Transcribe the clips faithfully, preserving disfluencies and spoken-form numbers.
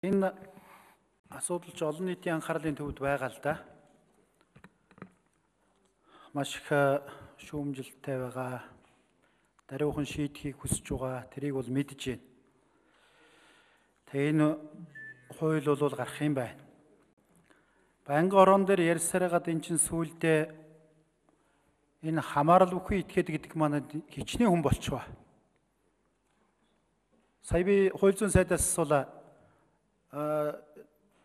Энэ асуудал ч олон нийтийн анхаарлын төвд байгаа л да. Маш их шүүмжилттэй байгаа. Даруйхан шийдэхийг хүсэж байгаа. Тэрийг бол мэдж байна. Тэгээ энэ хууль бол гарах юм байна. Байнгын орон дээр ярьсараад эн чин сүүлдээ энэ хамаарал бүхий этгээд гэдэг маань хичнээн хүн болчихоо. Сая би хууль зүйн сайдаас асуулаа.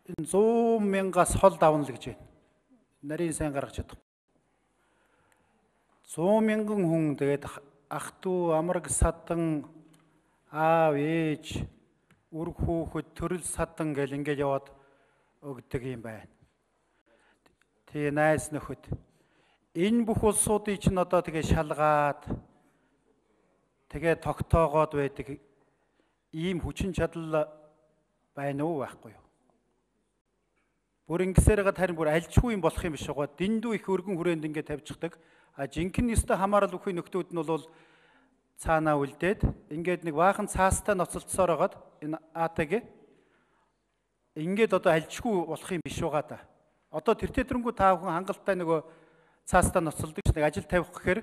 Энэ зуун мянгаас хол давна л гэж байна. Нарийн сайн гаргаж чадах. зуун мянган хүн тэгээд ах дүү, амраг садан, аав, ээж, үр хүүхэд, төрөл садан гэл ингээд яваад өгдөг юм байна. Тэгээ найз нөхөд. Энэ бүх улсуудыг чинь одоо тэгээ шалгаад тэгээ тогтоогоод байдаг ийм хүчин чадал байна уу байхгүй юу? Бүр ингэсээрээ харин бүр альчгүй юм болох юм биш байгаа. Дэндүү их өргөн хүрээнд ингээд тавьчихдаг. А жинхэнэ өстө хамаарал бүхий нөхдүүд нь бол цаанаа үлдээд ингээд нэг баахан цаастай ноцолцсоор хагаад энэ АТГ ингээд одоо альчгүй болох юм биш байгаа да. Одоо тэр тэдрэнгүү та бүхэн хангалттай нөгөө цаастай ноцолдог ч нэг ажил тавих гэхээр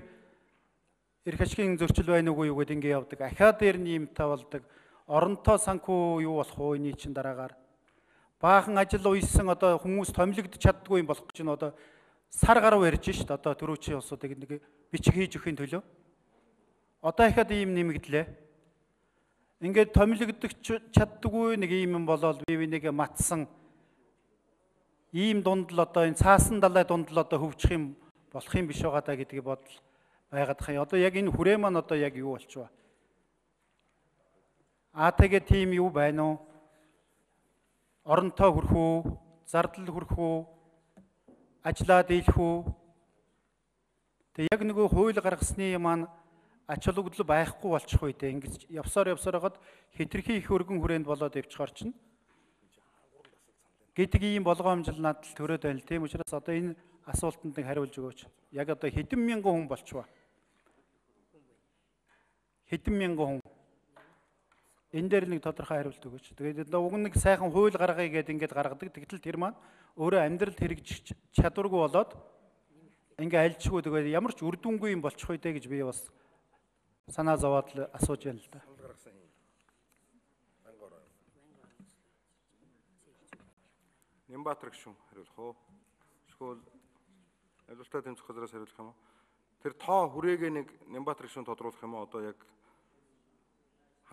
эрх ашигын зөрчил байна уу юу гэдээ ингээд явдаг. Ахаа дээр нь юм та болдог. Оронтой санхүү юу болох уу энэ чинь дараагаар баахан ажил уйсан одоо хүмүүс томилогдож чаддгүй юм болох гэж нь одоо сар гаруй ярьж шít одоо төрөөчийн улсуудыг нэг бичиг хийж өгөхийн төлөө. Одоо ихад ийм нэмэгдлээ. Ингээд томилогдож чаддгүй нэг ийм юм болоод бие бинийгээ матсан ийм дунд л одоо энэ цаасан далай дунд л одоо хөвчих юм болох юм биш байгаа даа гэдгийг бодол байгаад хаа. Одоо яг энэ хүрээ маань одоо яг юу болчихваа. АТГ тим юу байна уу? Оронтой хүрэх үү? Зардал хүрэх үү? Ажлаа дийлэх үү? Тэг яг нөгөө хууль гаргасны маань ач холбогдол байхгүй болчих үү дээ. Ингэж явсаар явсаар хагаад хитрхи их өргөн хүрээнд болоод явчихаар чинь гэдэг ийм болгоомжл надад төрөөд байна л тийм учраас одоо энэ асуултанд нэг хариулж өгөөч. Яг одоо хэдэн мянган хүн болчихваа. Хэдэн мянган хүн. Энэ дээр нэг тодорхой хариулт өгөөч. Тэгээд одоо уг нэг сайхан хууль гаргая гэдээ ингээд гаргадаг. Тэгтэл тэр маань өөрөө амьдралд хэрэгжих чадваргүй болоод ингээ альчгүй тэгээд ямар ч үр дүнгүй юм болчих үү дээ гэж би бас санаа зовоод л асууж байна л да. Нямбатар гүшүүн хариулах уу? Эсвэл ажилтны тэмцэх газраас хариулах юм уу? Тэр тоо хүрээгээ нэг Нямбатар гүшүүн тодруулах юм уу? Одоо яг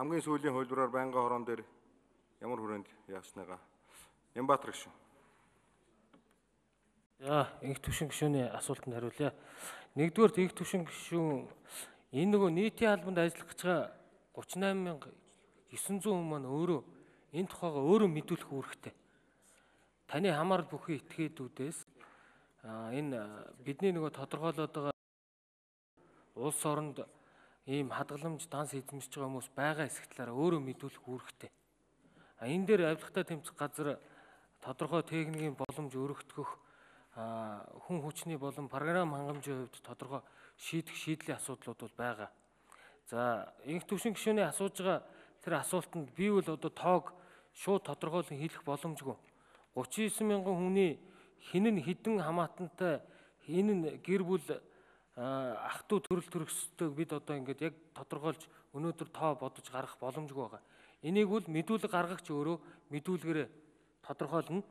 хамгийн сүүлийн хуулбараар байнгын хорон дээр ямар хүрээнд яасныгаа Нямбатар гүшүүн. За, инх төвшин гишүүний асуултанд хариулъя. Нэгдүгээр инх төвшин гишүүн энэ нөгөө нийтийн албанд ажиллах гэж байгаа гуйч найман мянга девять жүз хүн маань өөрөө энэ тухайга өөрөө мэдүүлэх үүрэгтэй. Таны хамаарал бүхий этгээдүүдээс энэ бидний нөгөө тодорхойлоод байгаа улс оронд ийм хадгаламж данс эзэмшиж байгаа хүмүүс байгаа эсэх талаараа өөрөө мэдүүлэх үүрэгтэй. А энэ дээр авилгатай тэмцэх газар тодорхой техникийн боломж өргөтгөх хүн хүчний болон програм хангамжийн хувьд тодорхой шийдэх шийдлийн асуудлууд бол байгаа. За, инх төвшин гишүүний асууж байгаа тэр асуултанд би бол одоо тоог шууд тодорхойлон хэлэх боломжгүй. гуйч девять мянган хүний хин нь хідэн хамаатантай энэ нь гэр бүл ах дүү төрөл төрөстэйг бид одоо ингээд яг тодорхойлж өнөөдөр тоо бодож гаргах боломжгүй байгаа. Энийг бол мэдүүлэг гаргагч өөрөө мэдүүлгээрээ тодорхойлно.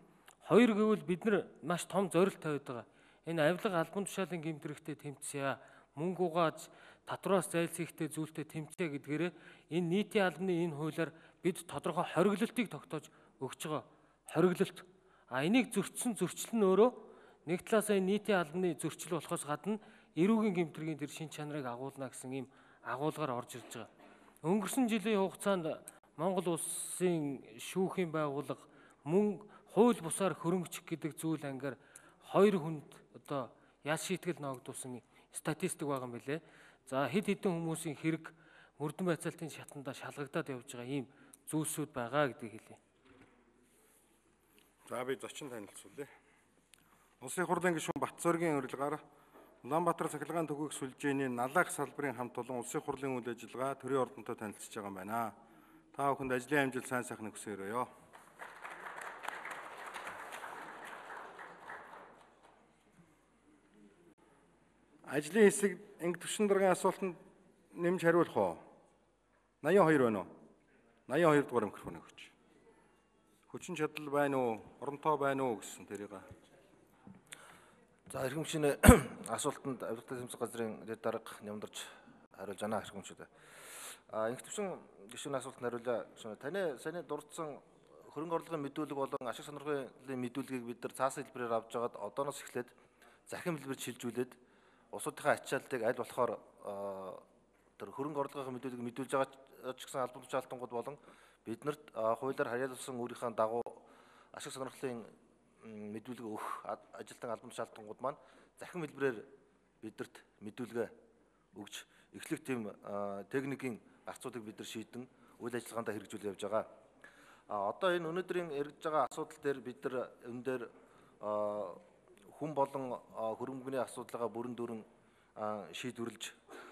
Хоёр гэвэл бид нар маш том зорилт тавиад байгаа. Энэ авилга албан тушаалын гэмтрэгтэй тэмцэе, мөнгө угааж татвараас зайлсхийхтэй зүйлтэй тэмцэе гэдгээрээ энэ нийтийн албаны энэ хуулиар бид тодорхой хориглолтыг тогтоож өгч байгаа. Хориглолт. А энийг зөрчсөн зөрчил нь өөрөө нэг талаасаа нийтийн албаны зөрчил болохоос гадна эрүүгийн гэмтрийн тэр шин чанарыг агуулна гэсэн ийм агуулгаар орж ирж байгаа. Өнгөрсөн жилийн хугацаанд Монгол улсын шүүхийн байгууллага мөн хууль бусаар хөрөнгөчих гэдэг зүйл ангаар хоёр хүнд одоо яс шийтгэл ногдуулсан статистик байгаа юм билэ. За хэд хэдэн хүмүүсийн хэрэг мөрдөн байцаалтын шатандаа шалгагдаад явж байгаа ийм зүйлсүүд байгаа гэдгийг хэлье. За би зочин танилцуулъя. Улсын хурлын гишүүн Батцоргийн урилгаар Улаанбаатар цахилгаан төгөөх сүлжээний налаах салбарын хамт олон улсын хурлын үйл ажиллагаа төрийн ордонтой танилцж байгаа юм байна. Та бүхэнд ажлын амжилт сайн сайхныг хүсье өрөөё. ажлын хэсэг инг төвшин даргын асуултанд нэмж хариулах уу? восемьдесят two байна уу? восемьдесят two дугаар микрофоныг өгч. Хүчин чадал байна уу? Оронтой байна уу гэсэн тэрийг. За эрхэмчийн асуултанд авилгатай тэмцэх газрын дэд дарга нямдарч хариулж байна эрхэмчүүд. А инх төвшин гишүүний асуултанд хариулъя. Таны саяны дурдсан хөрөнгө орлогын мэдүүлэг болон ашиг сонирхлын мэдүүлгийг бид нар цаасан хэлбэрээр авч байгаад одооноос эхлээд захин хэлбэрт шилжүүлээд улсуудынхаа ачаалтыг аль болохоор тэр хөрөнгө орлогын мэдүүлгийг мэдүүлж байгаа ч гэсэн албан тушаалтангууд болон биднэрт хуулиар харьяалсан өөрийнхөө дагуу ашиг сонирхлын мэдүүлэг өгөх ажилтан албан тушаалтангууд маань захин хэлбэрээр биднэрт мэдүүлгээ өгч эхлэх тийм техникийн гарцуудыг бид нар шийдэн үйл ажиллагаанд хэрэгжүүлж явж байгаа. А одоо энэ өнөөдрийн эргэж байгаа асуудал дээр бид нар энэ дээр хүн болон хөрөнгөний асуудлаа бүрэн дүрэн шийдвэрлэж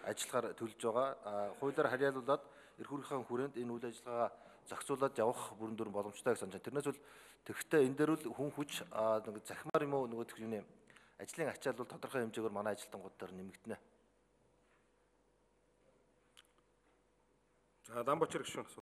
ажиллахаар төлж байгаа. Хуулиар харьяалуулаад эрх үүргийн хүрээнд энэ үйл ажиллагаа зохицуулаад явах бүрэн дүрэн боломжтой гэж санаж байна. Тэрнээс бол тэгэхдээ энэ дээр бол хүн хүч нэг захимаар юм уу нөгөө тийм ажлын ачаал бол тодорхой хэмжээгээр манай ажилтнууд дээр нэмэгдэнэ. За Дамбочир гишүүн.